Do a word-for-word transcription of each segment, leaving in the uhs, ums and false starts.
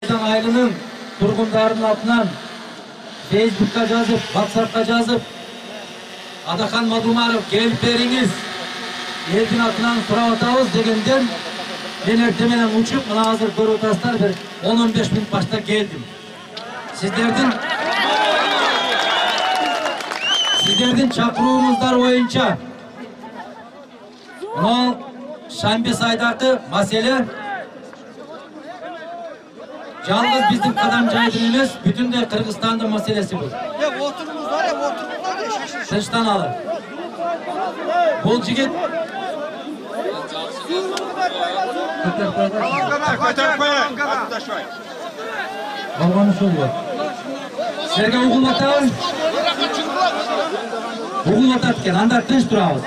Айылының тургундарынын атынан Facebook'ka жазып, WhatsApp'ка жазып, Адахан Мадумаров келип бериңиz, элдин атынан сурап атабыз дегенден мен эртең менен учуп, мына азыр көрүп атасыздар, бир он он беш мүнөт башта келдим. Сиздердин Сиздердин чакырууңуздар боюнча мына Шамбе сайдагы маселе жалгыз биздин кадам жайдын эмес, бүтүндөй Кыргызстандын маселеси бул. Тынчтан алып. Бул жигит Алган ушул го. Силерге угулуп атабыз? Угулуп атат экен, анда тынч турабыз.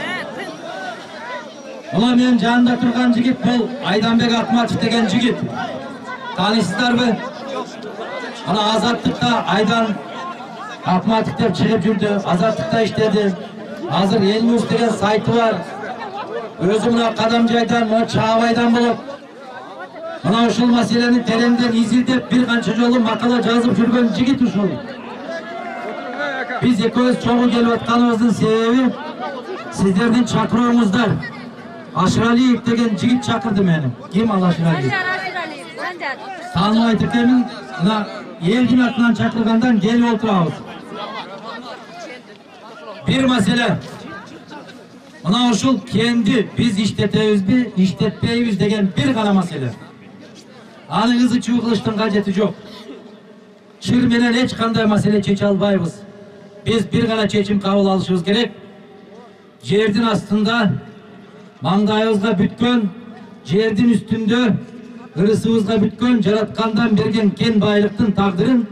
Мына менин жанымда турган жигит бул Айданбек Акматов деген жигит. Танысыздарбы? Ана Азаттыкта Айдан Акматов деп чыгып жүрдү, Азаттыкта иштеди. Азыр Эл Ньюс деген сайты бар. Өзү мына кадам жайдан, мына Чаабайдан болот. Мына ушул маселени тереңден изилдеп, бир канча жолу макала жазып жүргөн жигит ушул. Биз экөөбүз чогуу келип атканыбыздын себеби сиздердин чакырууңуздар. Ашыралиев деген жигит чакырды мени. Ким ал Ашыралиев? Тааныбайт экенмин, мына элдин атынан чакыргандан келип отурабыз. Бир маселе. Мына ушул кенди биз иштетебизби, иштетпейбиз деген бир гана маселе. Аны ызы чуу кылыштын кажети жок. Чыр менен эч кандай маселе чече албайбыз. Биз бир гана чечим кабыл алышыбыз керек. Жердин астында маңдайыбызга бүткөн, жердин үстүндө ырысыбызга бүткөн, жараткандан берген кен байлыктын тагдырын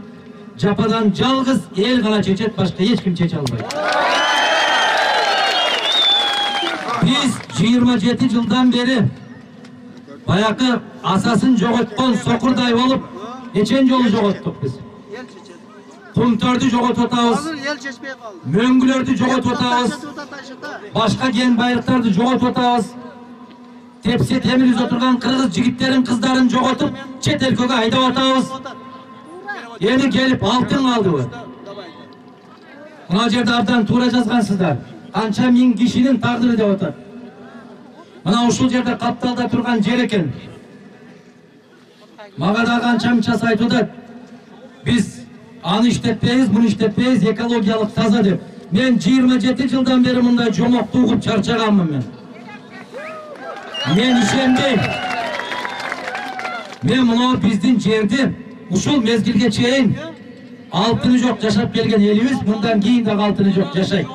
жападан жалгыз эл гана чечет, башка эч ким чече албайт. Биз жыйырма жети жылдан бери баякы асасын жоготкон сокурдай болуп, нечен жолу жоготтук биз. Кумтөрдү жоготуп атабыз, мөңгүлөрдү жоготуп атабыз, башка кен байлыктарды жоготуп атабыз. Тепсе темир үзө турган кыргыз жигиттерин, кыздарын жоготуп, чет элкеге айдап атабыз. Эми келип алтын калдыбы? Мына жерде абдан туура жазгансыздар. Канча миң кишинин тагдыры деп атат. Мына ушул жерде капталда турган жер экен. Мага да канча мынчасы айтып атат. Биз аны иштетпейбиз, муну иштетпейбиз, экологиялык таза деп. Мен жыйырма жети жылдан бери мындай жомокту угуп чарчаганмын мен. Мен ишенбейм. Мен мына биздин жерди ушул мезгилге чейин алтыны жок жашап келген элибиз, мындан кийин дагы алтыны жок жашайт.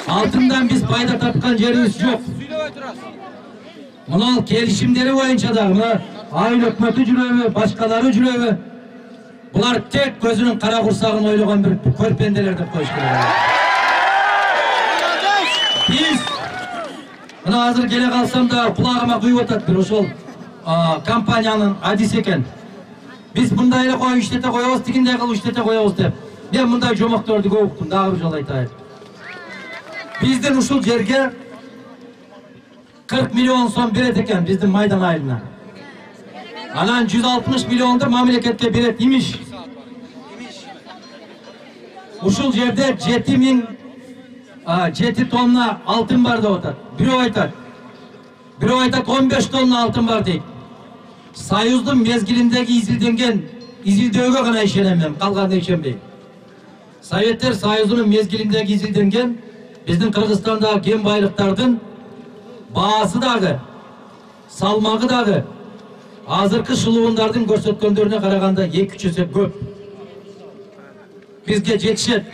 Алтындан биз пайда тапкан жерибиз жок. Мына келишимдери боюнча дагы мына айыл өкмөтү жүрөбү, башкалары жүрөбү? Булар тек көзүнүн кара курсагын ойлогон бир көрпенделер деп коюш керек. Биз мына азыр келе калсам да кулагыма куюп атат бир ошол компаниянын адиси экен. Биз мындай эле коюп иштете коебуз, тигиндей кылып иштете коебуз деп. Мен мындай жомокторду көп уктум, дагы бир жолу айтайын. Биздин ушул жерге кырк миллион сом берет экен биздин Майдан айылына. Анан жүз алтымыш миллионду мамлекетке берет имиш. Ушул жерде жети миң жети тонна алтын бар деп атат. Бирөө айтат. Бирөө айтат он беш тонна алтын бар дейт. Союздун мезгилиндеги изилденген изилдөөгө гана ишенем мен, калганда ишенбейм. Советтер Союзунун мезгилиндеги изилденген биздин Кыргызстандагы кен байлыктардын баасы дагы, салмагы дагы азыркы шылуундардын көрсөткөндөрүнө караганда эки үч эсе көп. Бизге жетишет.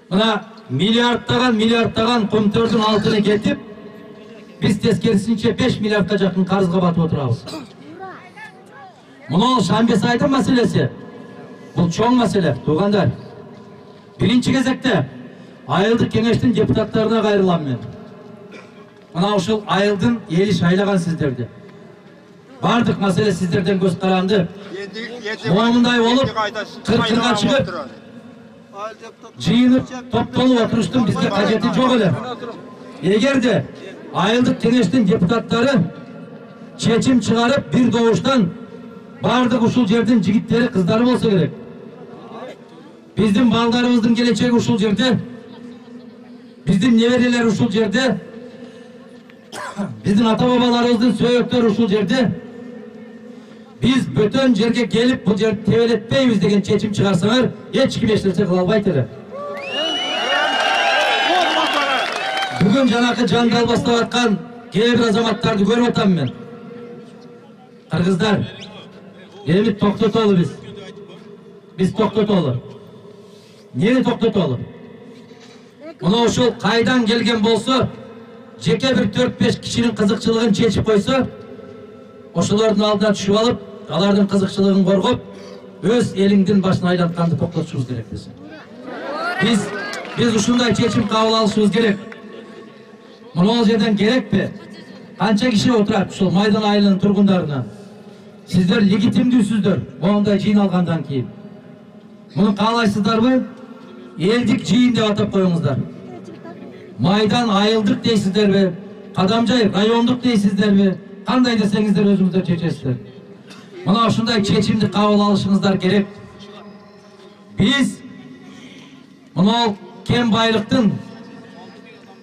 Мына миллиардтаган миллиардтаган көмтөрдүн алтыны кетип, биз тескерисинче беш миллиардка жакын карызга батып отурабыз. Мына Шамбе сайдын маселеси. Бул чоң маселе, туугандар. Биринчи кезекте айылдык кеңештин депутаттарына кайрылам мен. Мына ушул айылдын эли шайлаган сиздерди. Бардык маселе сиздерден көз каранды. Момундай болуп, кыркырга чыгып, жыйынып, топтолуп отуруштун бизге кажети жок эле. Эгерде айылдык кеңештин депутаттары чечим чыгарып бир добуштан бардык ушул жердин жигиттери, кыздары болсо керек. Биздин балдарыбыздын келечеги ушул жерде. Биздин неберелер ушул жерде. Биздин ата-бабаларыбыздын сөөктөрү ушул жерде. Биз бөтөн жерге келип бул жерди тебелетпейбиз деген чечим чыгарсаңар, эч ким эч нерсе кыла албайт эле. Бүгүн жанакы жанды албастап аткан кээ бир азаматтарды көрүп атам мен. Кыргыздар, эми токтотолу биз. Биз токтотолу. Нени токтотолу? Мына ушул кайдан келген болсо, жеке бир төрт беш кишинин кызыкчылыгын чечип койсо, ошолордун алдына түшүп алып, алардын кызыкчылыгын коргоп, өз элиңдин башын айлантканды токтотушубуз керек биз. Биз биз ушундай чечим кабыл алышыбыз керек. Мына жерден керекпи? Канча киши отурат ушул Майдан айылынын тургундарына? Сиздер легитимдүүсүздөр моундай жыйналгандан кийин. Муну каалайсыздарбы? Элдик жыйын деп атап коюңуздар. Майдан айылдык дейсиздерби? Кадамжай райондук дейсиздерби? Кандай десеңиздер өзүңүздөр чечесиздер. Мына ушундай чечимди кабыл алышыңыздар керек. Биз мына кем байлыктын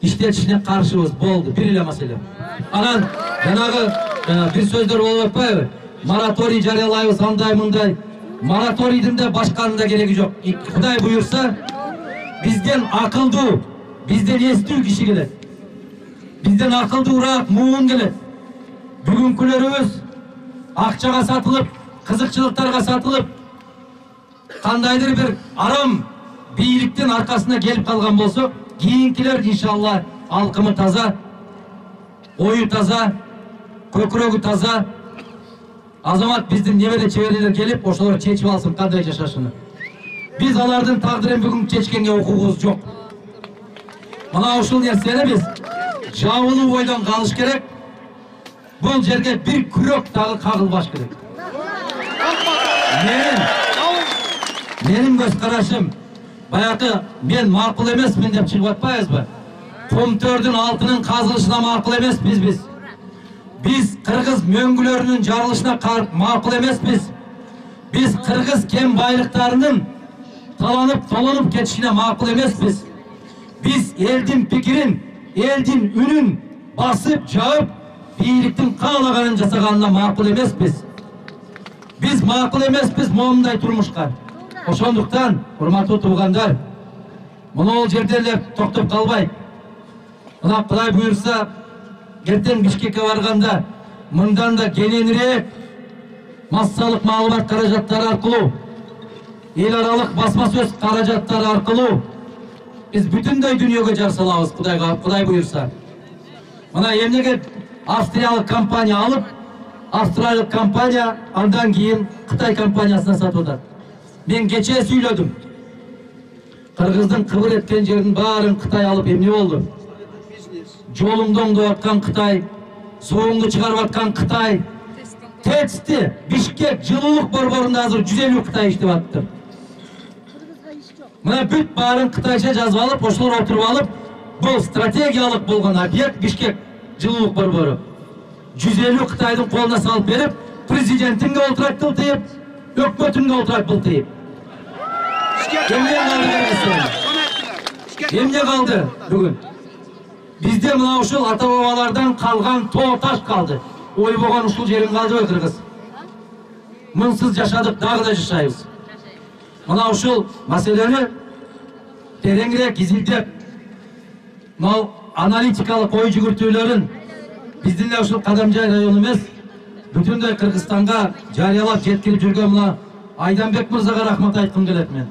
иштетишине каршыбыз, болду, бир эле маселе. Анан жанагы бир сөздөр болуп атпайбы? Мораторий жарыялайбыз, андай мындай. Мораторийдин да башканын да кереги жок. Кудай буйрса, бизден акылдуу, бизден эстүү киши келет. Бизден акылдуураак муун келет. Бүгүнкүлөрүбүз акчага сатылып, кызыкчылыктарга сатылып, кандайдыр бир арам бийликтин аркасына келип калган болсо, кийинкилер иншалла алкымы таза, ою таза, көкүрөгү таза, азамат биздин небере чеберлер келип, ошолор чечип алсын кандай жашашыны. Биз алардын тагдырын бүгүн чечкенге укугубуз жок. Мына ушул нерсени биз жабылуу бойдон калыш керек. Бул жерге бир күрөк дагы кагылбаш керек. Менин менин көз карашым, баягы мен макул эмесмин деп чыгып атпайбызбы? Комтөрдүн алтынын казылышына макул эмеспиз биз. Биз кыргыз мөңгүлөрүнүн жарылышына макул эмеспиз. Биз кыргыз кен байлыктарынын таланып, толонуп кетишине макул эмеспиз. Биз элдин пикирин, элдин үнүн басып, жаып, бийликтин каалаганын жасаганына макул эмеспиз. Биз макул эмеспиз моундай турмушка. Ошондуктан, урматтуу туугандар, мына жерде эле токтоп калбай, мына Кудай буйрса, эртең Бишкекке барганда, мындан да кененирээк массалык маалымат каражаттары аркылуу, эл аралык басма сөз каражаттары аркылуу биз бүтүндөй дүйнөгө жар салабыз, Кудайга, Кудай буйрса. Мына эмнеге австриялык компания алып, австриялык компания андан кийин Кытай компаниясына сатып атат. Мен кечээ сүйлөдүм. Кыргыздын кыбыр эткен жерин баарын Кытай алып эмне болду? Жолуңду оңдоп аткан Кытай, сууңду чыгарып аткан Кытай, ТЭЦти Бишкек жылуулук борборунда азыр жүз элүү Кытай иштеп атыптыр. Мына бүт баарын Кытайча жазып алып, ошолор отуруп алып, бул стратегиялык болгон объект Бишкек жылуулук борбору. жүз элүү Кытайдын колуна салып берип, президентинге олтурат тылтыйып, өкмөтүнгө олтурат былтыйып. Эмне калды? Эмне калды бүгүн? Бизде мына ушул ата-бабалардан калган тоо таш калды. Ойбогон ушул жерин калдыбы кыргыз? Мынсыз жашадык, дагы да жашайбыз. Мына ушул маселени тереңирээк изилдеп, мына аналитикалык ой жүгүртүүлөрүн биздин эле ушул Кадамжай району эмес, бүтүндөй Кыргызстанга жарыялап жеткирип жүргөн мына Айданбек мырзага рахмат айткым келет мен.